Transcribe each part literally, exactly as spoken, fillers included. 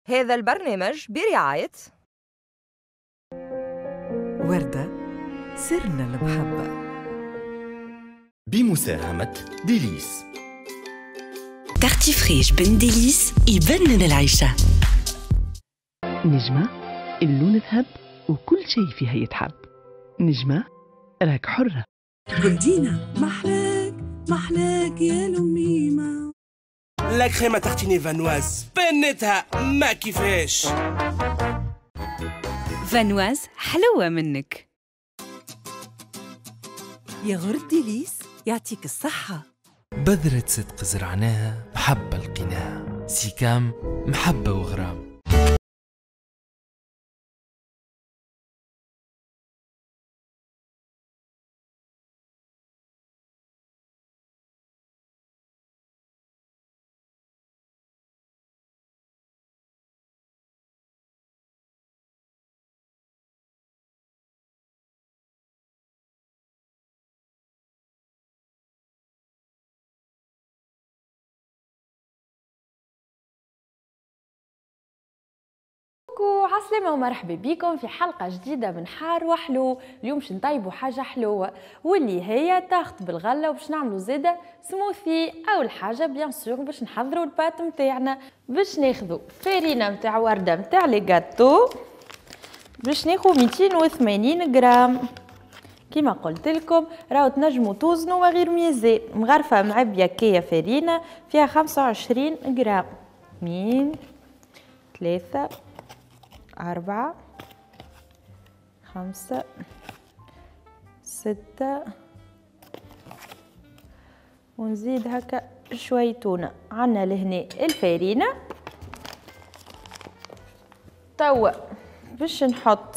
هذا البرنامج برعاية وردة سرنا المحبة، بمساهمة ديليس. Tartifriche بن ديليس يبنن العيشة. نجمة اللون ذهب وكل شيء فيها يتحب. نجمة راك حرة. بلدينا محلاك محلاك يا لميمة. la crème à tartiner Vanoise بنتها ما كيفاش. Vanoise حلوة منك. ياغورت ديليس يعطيك الصحة. بذرة صدق زرعناها محبة لقيناها. سيكام محبة وغرام. عسلامة ومرحبا بكم في حلقة جديدة من حار وحلو. اليوم باش نطيبوا حاجة حلوة واللي هي tarte بالغلة، وباش نعملوا زادة سموثي. أول حاجة bien sûr باش نحضروا ال pâte نتاعنا. باش ناخذوا فرينة نتاع وردة نتاع les gâteaux، باش ناخذ مئتين وثمانين غرام. كيما قلت لكم راهو تنجموا توزنوا من غير ميزان. مغرفة معبية كية فرينة فيها خمسة وعشرين غرام. اثنين ثلاثة أربعة خمسة ستة، ونزيد هكا شوي تونة. عنا لهنا الفارينة. توا باش نحط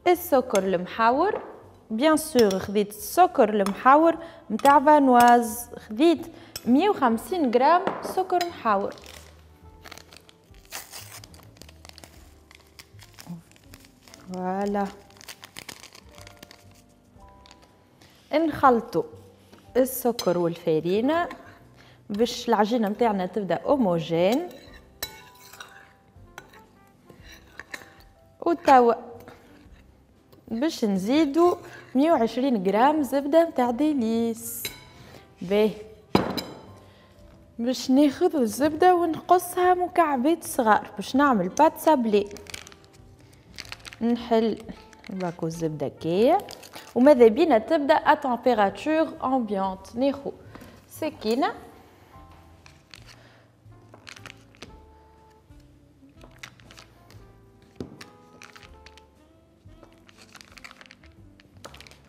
السكر المحور. bien sûr خذيت السكر المحور متاع Vanoise، خذيت مية وخمسين غرام سكر محور. voilà نخلطو السكر والفارينة باش العجينة متاعنا تبدا homogène. وتوا باش نزيدو مية وعشرين غرام زبدة متاع ديليس. باهي باش ناخذ الزبدة ونقصها مكعبات صغار باش نعمل pâte sablée. نحل باكو الزبدة كيا، وماذا بينا تبدا à température ambiante. ناخو سكينة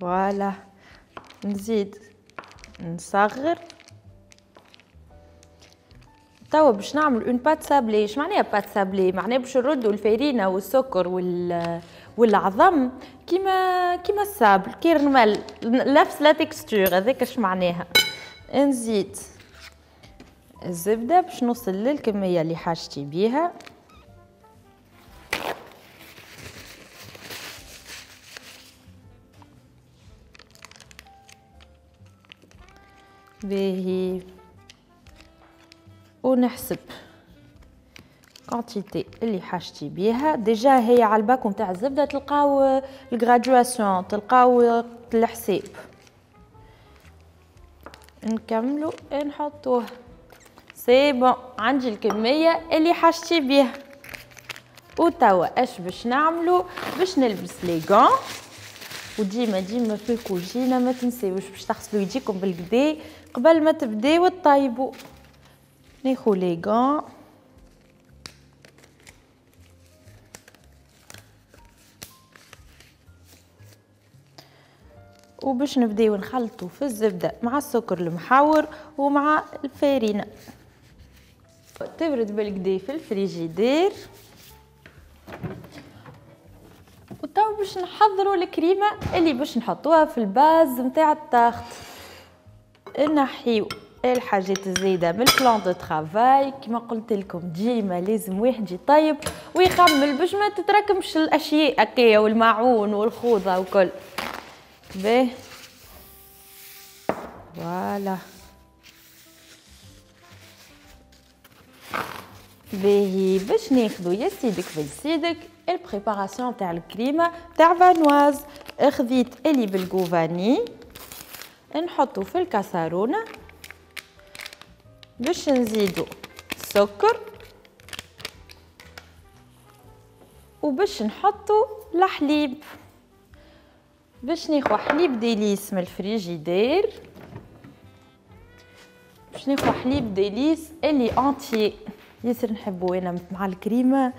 voilà، نزيد نصغر. توا باش نعمل une pâte sablée. اش معناها pâte sablée؟ معناها باش نردوا الفارينه والسكر وال والعظم كيما كيما ال sable، كي الرمل، نفس la texture. هذاك اش معناها. نزيد الزبدة باش نوصل للكميه اللي حاجتي بيها. باهي ونحسب quantité اللي حاجتي بيها. déjà هي على الباكو نتاع الزبدة تلقاو ال graduation، تلقاو الحساب. نكملو نحطوه. c'est bon عندي الكمية اللي حاجتي بيها. وتوا اش باش نعملو؟ باش نلبس les gants. وديما ديما في الكوجينه ما تنساوش باش تغسلوا يديكم بالكدا قبل ما تبداو تطيبوا. ناخو les gants وباش نبداو نخلطو في الزبدة مع السكر المحور ومع الفارينه. تبرد بالكدا في الفريجيدير. وتو باش نحضروا الكريمة اللي باش نحطوها في ال base نتاع ال tarte. نحيو الحاجات الزايدة من ال plan de travail. كما قلت لكم ديما لازم واحد يطيب ويخمل باش ما تتراكمش الاشياء هكايا والماعون والخوضه وكل. باهي voilà باهي باش ناخذو يا سيدك بن سيدك ال préparation تاع الكريمة تاع Vanoise. خذيت اللي بال goût vanille نحطو في الكاسرونه باش نزيدو السكر وباش نحطو الحليب. باش ناخو حليب Délice من الفريجيدير، باش ناخو حليب Délice اللي entier ياسر نحبو انا مع الكريمة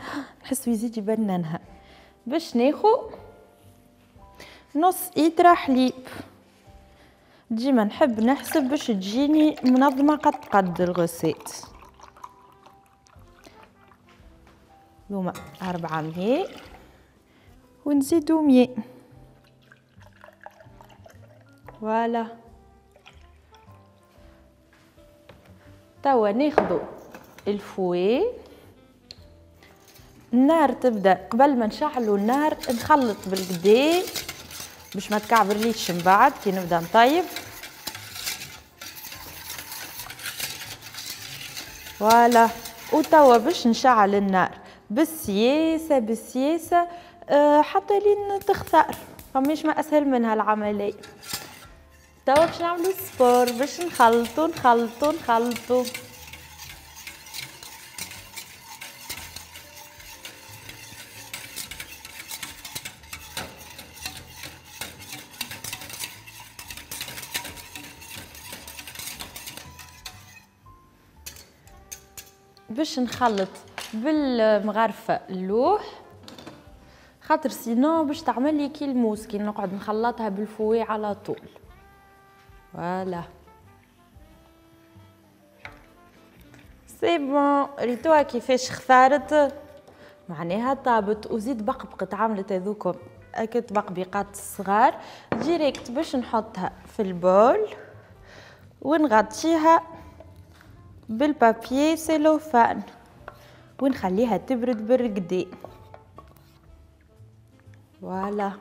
نحسو يزيد يبننها. باش ناخو نص ايترا حليب، ديما نحب نحسب باش تجيني منظمة قد قد ال recette. هما أربعة مية ونزيدو مية voilà. توا ناخدو ال fouet، النار تبدا قبل ما نشعلو النار نخلط بالقدا باش ما تكعبرليش من بعد كي نبدا نطيب. voilà وتوا باش نشعل النار بالسياسة بالسياسة أه حتى لين تخثر، فماش ما اسهل منها العملية. توا باش نعملو sport باش نخلطو نخلطو نخلطو. باش نخلط بالمغرفه اللوح خاطر sinon باش تعمل لي كي الموس كي نقعد نخلطها بال fouet على طول. voilà c'est bon ريتوها كيفاش خثارت، معناها طابت وزيد بقبقت عملت هذوكم اكيد بقبيقات الصغار. direct باش نحطها في ال bol ونغطيها بال papier cellophane ونخليها تبرد بالقدي. voilà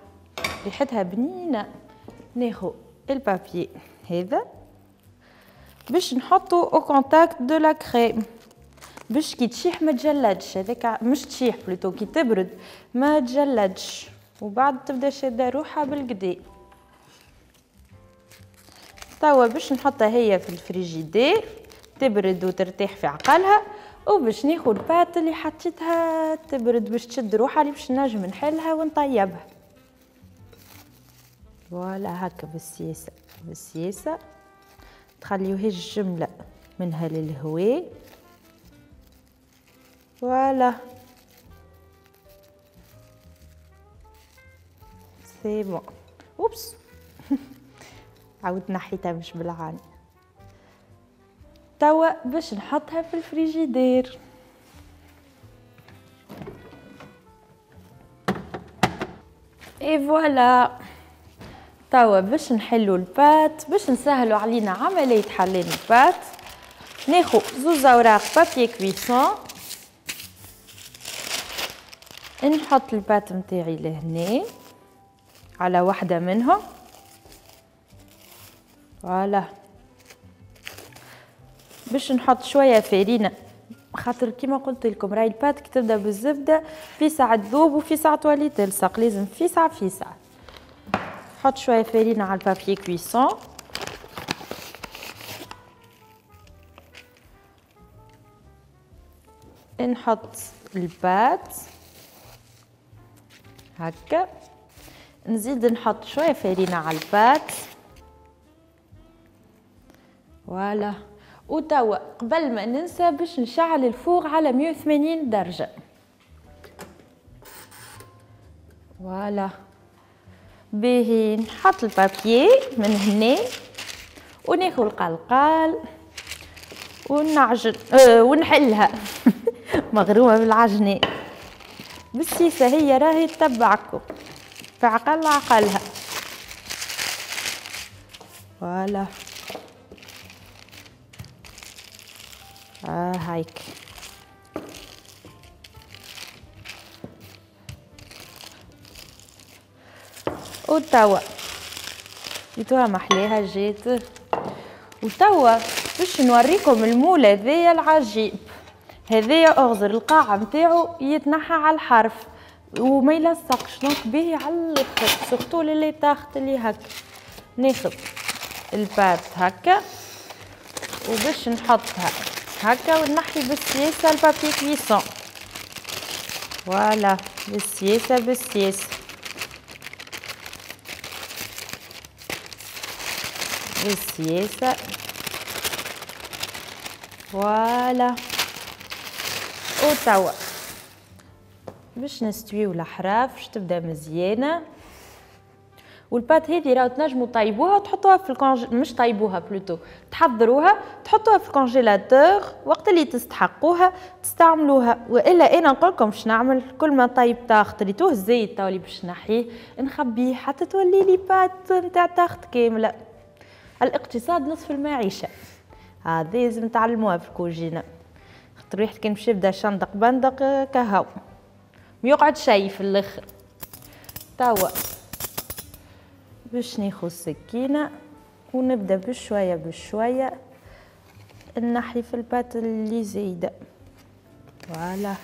ريحتها بنينه. ناخو ال papier هذا باش نحطو au contact de la crème باش كي تشيح ما تجلدش، هذاك مش تشيح plutôt كي تبرد ما تجلدش وبعد تبدا شاده روحها بالقدي. توا باش نحطها هي في الفريجيدير تبرد وترتاح في عقلها، وباش ناخذ ال pâte اللي حطيتها تبرد باش تشد روحها اللي باش نجم نحلها ونطيبها. voilà هكا بالسياسة بالسياسة تخليوهاش جملة منها للهواء. voilà c'est bon. oups عاودت نحيتها مش بالعاني. توا باش نحطها في ال frigidaire. et voilà توا باش نحلو ال pâte باش نسهلو علينا عملية حلان ال pâte. ناخو زوز اوراق papier cuisson، نحط ال pâte نتاعي لهنا على واحدة منهم. voilà باش نحط شوية فرينه خاطر كيما قلت لكم راهي ال pâte كي تبدا بالزبده في ساعة تذوب وفي ساعة تولي تلصق، لازم في ساعة في ساعة. نحط شوية فرينه على ال papier cuisson. نحط ال pâte هكا، نزيد نحط شوية فرينه على ال pâte. voilà وتوا قبل ما ننسى باش نشعل ال four على مية وثمانين درجة. voilà باهي نحط ال papier من هنا وناخذ القلقال ونعجن أه ونحلها مغرومة بالعجنة بالسيسة هي راهي تتبعكم في عقل عقلها. voilà آه هايك وتوا ريتوها محليها جات. وتوا باش نوريكم ال moule هذايا العجيب. هذايا اغزر القاعة نتاعو يتنحى على الحرف وما يلصقش، donc باهي على الاخر surtout les tartes اللي هكا. ناخذ ال pâte هكا وباش نحطها هكا ونحي بالسياسة ال papier cuisson. voilà بالسياسة بالسياسة بالسياسة. voilà وتوا باش نستويو الأحراف باش تبدا مزيانه. وال pâte هذه راهو تنجموا طيبوها وتحطوها في ال congé، مش طيبوها plutôt تحضروها تحطوها في ال congélateur وقت اللي تستحقوها تستعملوها. والا انا نقول لكم باش نعمل كل ما طيب tarte ريتوه الزيت تو اللي باش نحيه نخبيه حتى تولي لي pâte نتاع tarte كاملة. الاقتصاد نصف المعيشة، هذه لازم تعلموها في الكوجينه، خاطر واحد كان باش يبدا شندق بندق كهو ما يقعد شي في الاخر. توا باش ناخذ السكينة ونبدا بشوية بشوية نحي في ال pâte اللي زايدة. voilà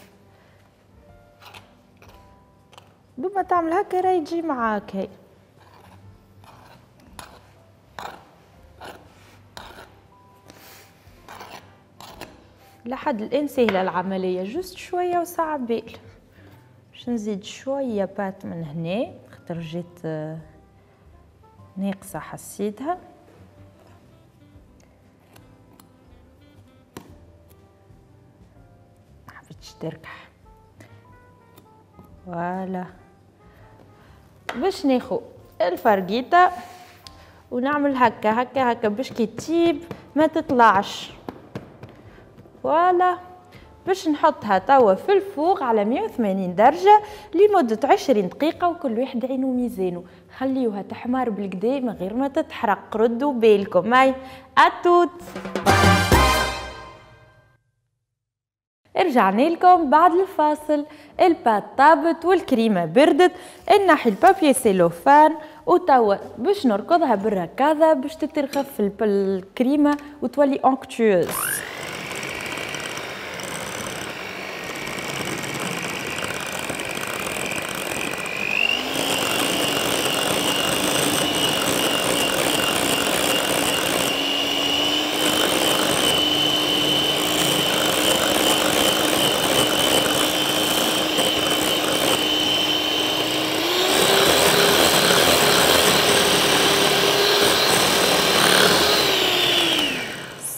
دوما تعمل هكا راهي تجي معاك هي. لحد الان سهلة العملية، juste شوية وساعة بال. باش نزيد شوية pâte من هنا خاطر جيت ناقصه حسيتها. ما حبيتش تركح. voilà باش ناخو الفرقيطه ونعمل هكا هكا هكا باش كي تطيب ما تطلعش. voilà باش نحطها توا في ال four على مية وثمانين درجة لمدة عشرين دقيقة، وكل واحد عينو ميزانو. خليوها تحمر بالكدا من غير ما تتحرق، ردوا بالكم. هاي à toute. رجعنا لكم بعد الفاصل. ال pâte طابت والكريمة بردت، نحي ال papier cellophane وتوا باش نركضها بالركاضة باش تترخف الكريمة وتولي onctueuse.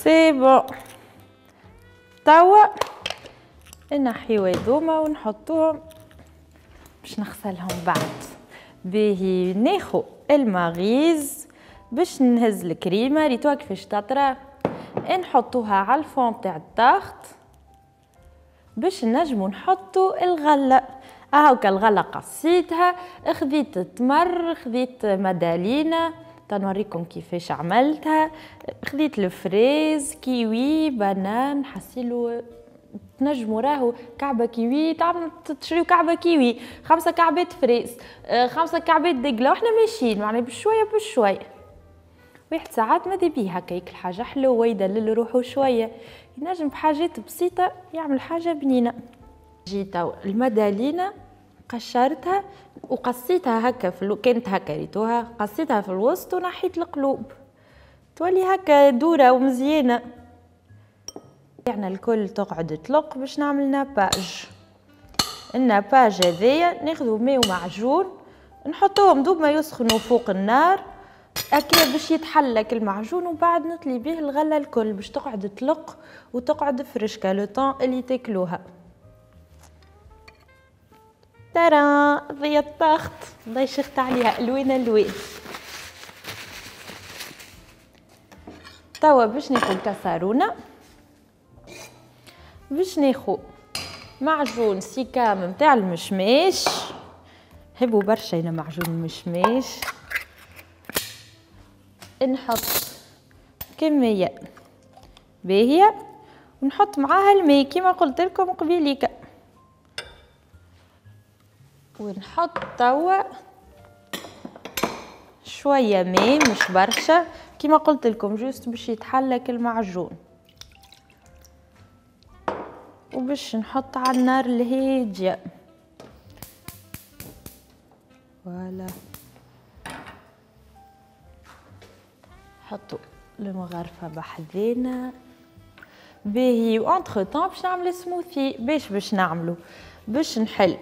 c'est bon توا نحيو هذوما ونحطوهم باش نغسلهم بعد. باهي ناخو المغيز باش نهز الكريمة، ريتوها كيفاش تطرى، نحطوها على ال fond تاع ال tarte باش نجمو نحطو الغلة. اهوكا الغلة قصيتها، خذيت التمر، خذيت مدالينا تنوريكم كيفاش عملتها، خذيت ال fraise، kiwi، banane، حسيلو تنجموا راهو كعبه كيوي تعمل تشريو كعبه كيوي، خمسة كعبات fraise، خمسة كعبات دقله، واحنا ماشيين معناها بشوية بشوية. واحد ساعات ماذا بيه هكا ياكل حاجة حلوة يدلل روحو شوية، ينجم بحاجات بسيطة يعمل حاجة بنينه. جيت المدالينا قشرتها وقصيتها هكا في الو... كانت هكا ريتوها، قصيتها في الوسط ونحيت القلوب تولي هكا دوره ومزيانه. يعني الكل تقعد تلق باش نعمل nappage. ال nappage هذايا ناخذو ماء ومعجون نحطوهم دوب ما يسخنوا فوق النار هكا باش يتحلك المعجون، وبعد نطلي به الغلة الكل باش تقعد تلق وتقعد فرشكه le temps اللي تاكلوها. ترى ضي ال tarte الله يشخت عليها الوان الوان. توا باش ناخذ كاسارونه، باش ناخذ معجون سيكام نتاع المشماش، نحبوا برشا انا معجون المشماش. نحط كمية باهيه ونحط معاها الماء كيما قلت لكم قبيليك، ونحط توا شوية ماء مش برشا كيما قلت لكم juste باش يتحلك المعجون. وباش نحط على النار الهادية. voilà حطوا المغرفه بحذينا. باهي و entre-temps باش نعمل سموثي. باش باش نعملو باش نحل،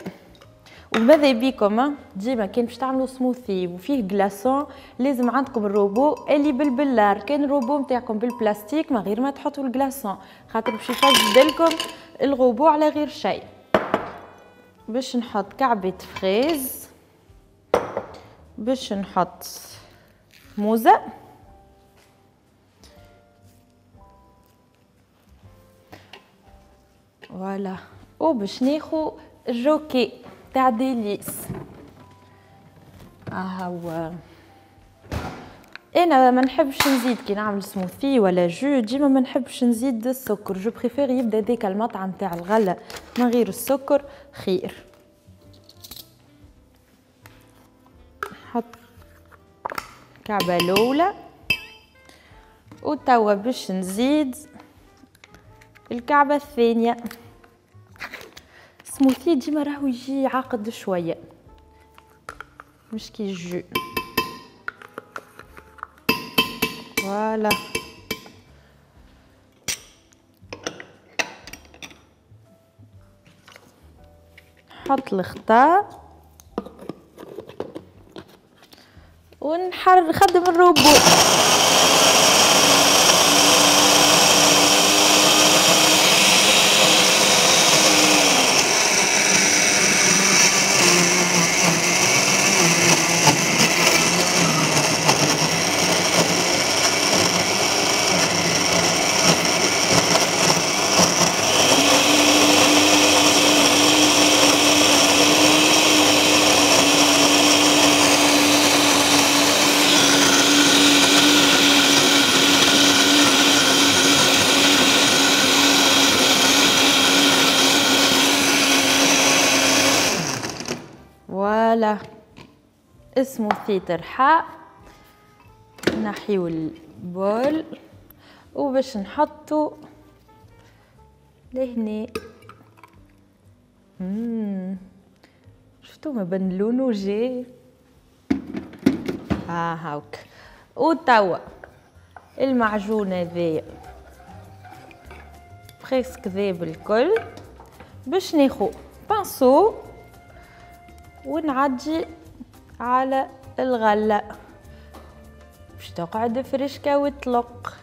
وماذا بيكم ديما كان باش تعملوا سموثي وفيه glaçons لازم عندكم الروبو اللي بالبلار. كان الروبو نتاعكم بالبلاستيك ما غير ما تحطوا ال glaçons، خاطر باش يفسد لكم الروبو على غير شيء. باش نحط كعبه fraise، باش نحط موزة، voilà، وباش ناخو الجوكي تاع ديليس. ها هو. انا ما نحبش نزيد كي نعمل سموثي ولا jus، ديما ما نحبش نزيد السكر، je préfère يبدا ديك المطعم تاع الغلة من غير السكر خير. نحط كعبه الاولى، وتوا باش نزيد الكعبة الثانية. سموثي ديما راهو يجي عاقد شوية، مش كي jus. voilà نحط الغطاء ونحر نخدم الروبو. voilà smoothie ترحى. نحيو ال bol وباش نحطو لهنا. مم. شفتو ما بان لونو جي. اه هاوك. وتوا المعجون هذايا presque ذاب الكل. باش ناخو pinceau ونعدي على الغلة باش تقعد فريشكا وتلق،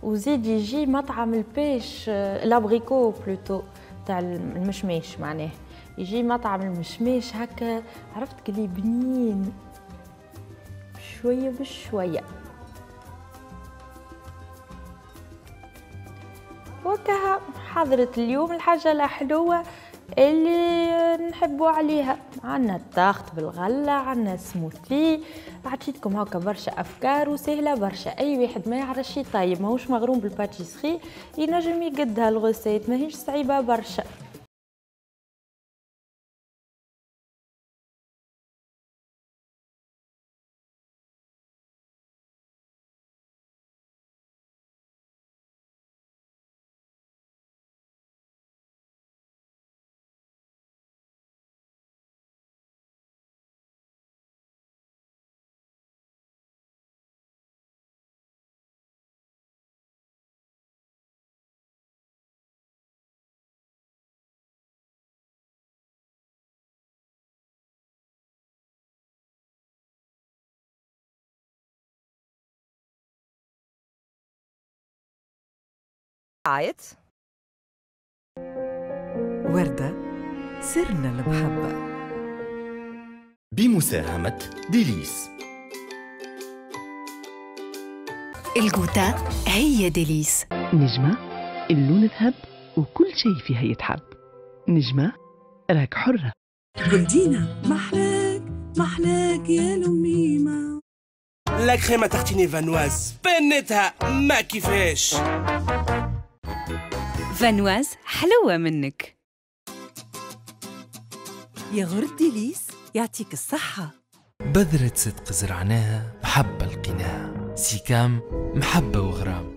وزيد يجي مطعم ال pêche l'abricot plutôt تاع المشماش، معناه يجي مطعم المشماش هكا، عرفت كلي بنين شوية بشوية. وكها حضرت اليوم الحاجة الحلوة اللي نحبوا عليها. عندنا ال tarte بالغله، عندنا سموثي، عطيتكم هكا برشا افكار وسهلة برشا. اي واحد ما يعرفش يطيب ماهوش مغروم بال pâtisserie ينجم يقدها ال recette، ماهيش صعيبة برشا. رعاية وردة سرنا المحبة بمساهمة ديليس. الجوتا هي ديليس. نجمة اللون ذهب وكل شيء فيها يتحب. نجمة راك حرة. جولدينا محلاك محلاك يا لميمة. la crème à tartiner فانواز بنتها ما كيفاش. فانواز حلوة منك. ياغورت ديليس يعطيك الصحة. بذرة صدق زرعناها محبة لقيناها. سيكام محبة وغرام.